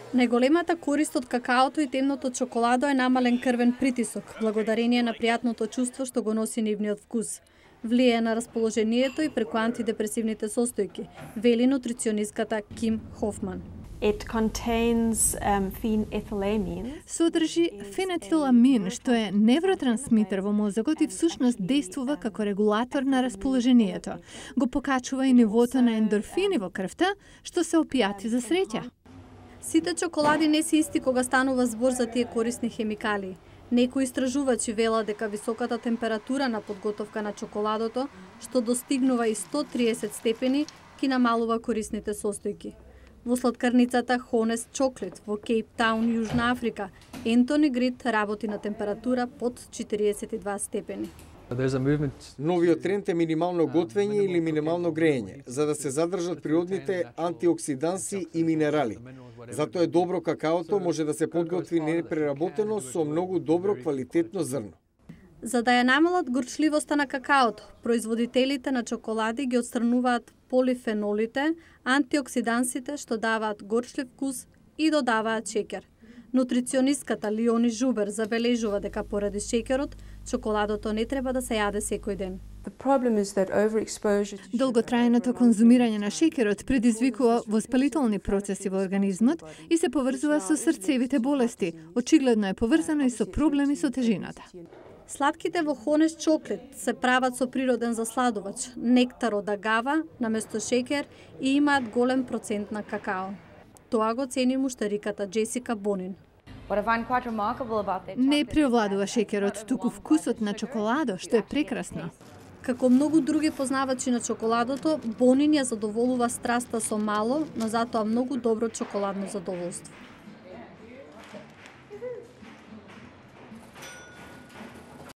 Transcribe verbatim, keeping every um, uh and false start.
Најголемата корист од какаото и темното чоколадо е намален крвен притисок, благодарение на пријатното чувство што го носи нивниот вкус. Влијае на расположението и преку антидепресивните состојки, вели нутриционистката Ким Хофман. It contains um, phenethylamine. Содржи фенетиламин, што е невротрансмитер во мозокот и всушност действува како регулатор на расположението. Го покачува и нивото на ендорфини во крвта, што се опијати за среќа. Сите чоколади не се исти кога станува збор за тие корисни хемикалии. Некои истражувачи велат дека високата температура на подготовка на чоколадото, што достигнува и сто триесет степени, ги намалува корисните состојки. Во сладкарницата Honest Chocolate во Кейптаун, Јужна Африка, Ентони Грид работи на температура под четириесет и два степени. Новиот тренд е минимално готвење или минимално грејење, за да се задржат природните антиоксиданси и минерали. Затоа е добро какаото може да се подготви непреработено со многу добро квалитетно зрно. За да ја намалат горчливоста на какаото, производителите на чоколади ги отстрануваат полифенолите, антиоксидансите што даваат горчлив вкус и додаваат шеќер. Нутриционистката Лиони Жубер забележува дека поради шеќерот, чоколадото не треба да се јаде секој ден. Долготрајното конзумирање на шеќерот предизвикува воспалителни процеси во организмот и се поврзува со срцевите болести. Очигледно е поврзано и со проблеми со тежината. Сладките во Honest Chocolate се прават со природен засладувач, нектар од агава наместо шеќер и имаат голем процент на какао. Тоа го цени муштариката Джесика Бонин. Не преовладува шеќерот, туку вкусот на чоколадо, што е прекрасно. Како многу други познавачи на чоколадото, Бонин ја задоволува страста со мало, но затоа многу добро чоколадно задоволство.